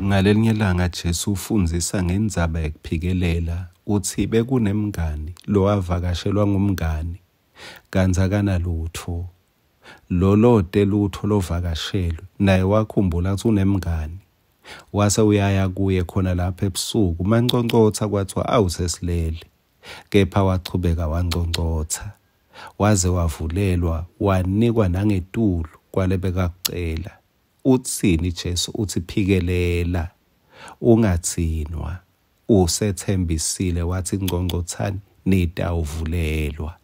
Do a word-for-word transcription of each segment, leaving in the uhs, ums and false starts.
Ngalelinye ilanga Jesu ufundzisa ngendzaba yekuphikelela, utsi bekunemngani lowavakashelwa ngumngani kantsi akanalutfo. Lolote lutfo lovakashelwe naye wakhumbula kutsi unemngani, wase uyaya kuye khona lapha ebusuku. Manconcotsa kwathiwa awu sesilele, kepha wachubeka wanconcotsa waze wavulelwa, wanikwa nangetulu kwalebekakucela. Utsini Jesu? Utsi phikelela, ungatsinwa. Usetsembisile watsi nconcotsani nitawuvulelwa.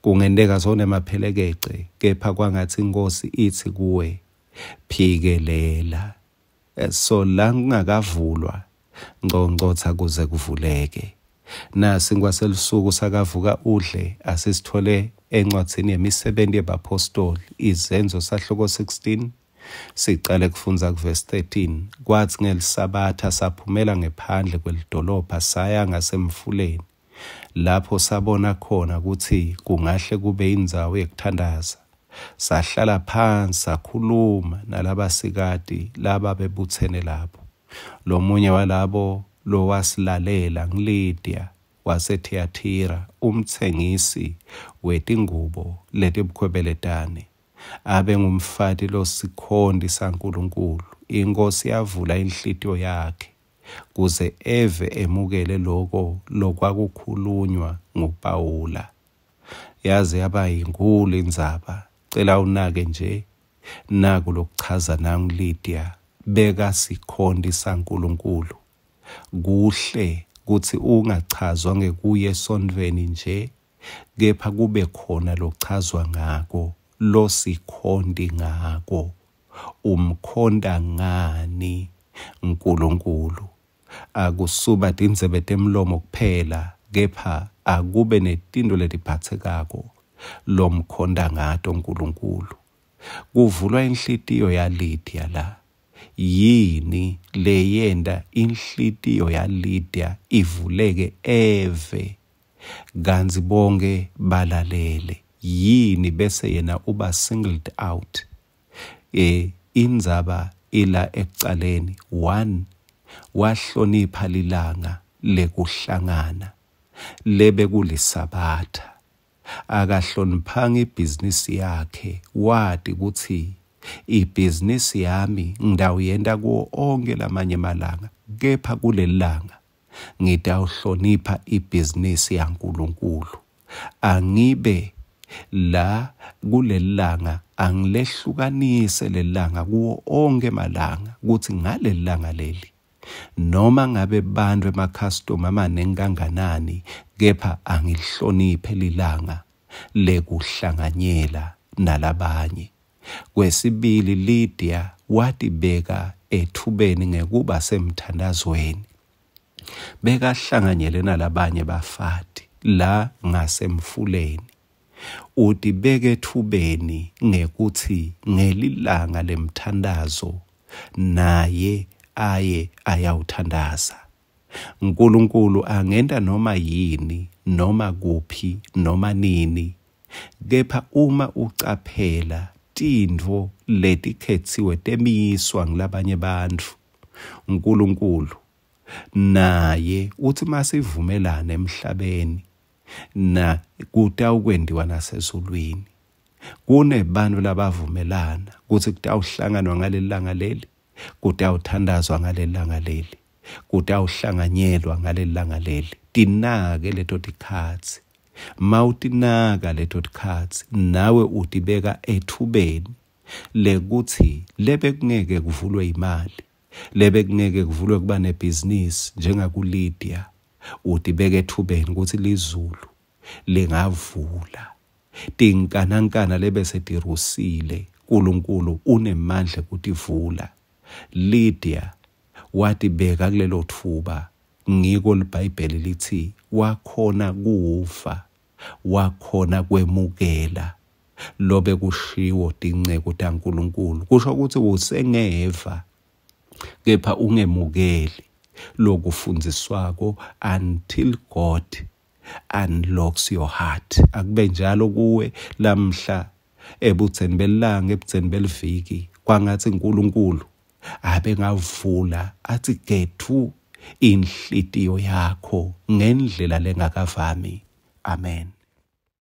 Kungenteka sonemaphelekece, kepha kwangatsi iNkhosi itsi kuwe phikelela. So la kungakavulwa nconcotsa kuze kuvuleke. Nasi ngwaselusuku sakavuka udle, asisithole encwadzini yemisebenti yebapostoli, Izenzo sahluko sixteen, sicale kufundza kuvesi thirteen. Kwatsi ngelisabatha saphumela ngephandle kwelidolobha saya ngasemfuleni, lapho sabona khona kutsi kungahle kube indzawo yekuthandaza. Sahlala phansi sakhuluma nalabasikati laba bebutsene lapho. Lomunye walabo lowasilalela nguLydia waseThiyathira, umtsengisi wetingubo letibukhwebeletane, abe ngumfati losikhonti saNkulunkulu. Inkosi yavula inhlitiyo yakhe kuze eve emukele loko lokwakukhulunywa nguPawula. Yaze yaba yinkulu indzaba. Cela unake nje naku lokuchaza nangu Lydia, beka sikhonti saNkulunkulu. Kuhle kutsi ungachazwa ngekuya esontfweni nje, kepha kube khona lochazwa ngako, losikhonti ngako. Umkhonta ngani Nkulunkulu? Akusuba tindzebe temlomo kuphela, kepha akube netinto letiphatsekako lomkhonta ngato Nkulunkulu. Kuvulwa inhlitiyo yaLydia la. Yini leyenta inhlitiyo yaLydia ivuleke eve kantsi bonke balalele? Yini bese yena uba singled out? E indzaba ila ekucaleni. One, wahlonipha lilanga lekuhlangana lebe kulisabatha. Akahloniphanga ibhizinisi yakhe, wati kutsi ibhizinisi yami ngitawuyenta kuwo onke lamanye emalanga, kepha kulelilanga ngitawuhlonipha ibhizinisi yaNkulunkulu. Angibe la kulelilanga, angilehlukanise lelilanga kuwo onke emalanga, kutsi ngalelilanga leli noma ngabe bantfu emakhastoma amanengi kanganani, kepha angilihloniphe lilanga lekuhlanganyela nalabanye. Kwesibili, Lydia watibeka ethubeni ngekuba semthandazweni. Bekahlanganyele nalabanye bafati la ngasemfuleni. Utibeka ethubeni ngekutsi ngelilanga lemthandazo naye aye ayawuthandaza. Nkulunkulu angenta noma yini, noma kuphi, noma nini, kepha uma ucaphela tintfo letikhetsiwe temiswa ngulabanye bantfu, Nkulunkulu naye utsi masivumelane emhlabeni na kutawukwentiwa nasezulwini. Kunebantfu labavumelana kutsi kutawuhlanganwa ngalelilanga leli, kutawuthandazwa ngalelilanga leli, kutawuhlanganyelwa ngalelilanga leli. Tinake leto tikhatsi. Mawutinaka leto tikhatsi, nawe utibeka ethubeni lekutsi lebe kungeke kuvulwe imali, lebe kungeke kuvulwe kuba nebhizinisi njengakuLydia, utibeka ethubeni kutsi lizulu lingavula. Tinkanankana lebe setirusile, Nkulunkulu unemandla kutivula. Lydia watibeka kulelo thuba. Ngiko liBhayibheli lithi wakhona kufa, wakhona kwemukela lobe kushiwo tinceku taNkulunkulu. Kusho ukuthi usengeva kepha ungemukeli lokufundziswako until God unlocks your heart. Akube njalo kuwe lamhla ebudzeni belanga, ebudzeni beliviki, kwangatsi Nkulunkulu Abengavula atsi getfu inhlitiyo yakho ngendlela lengakavami. Amen.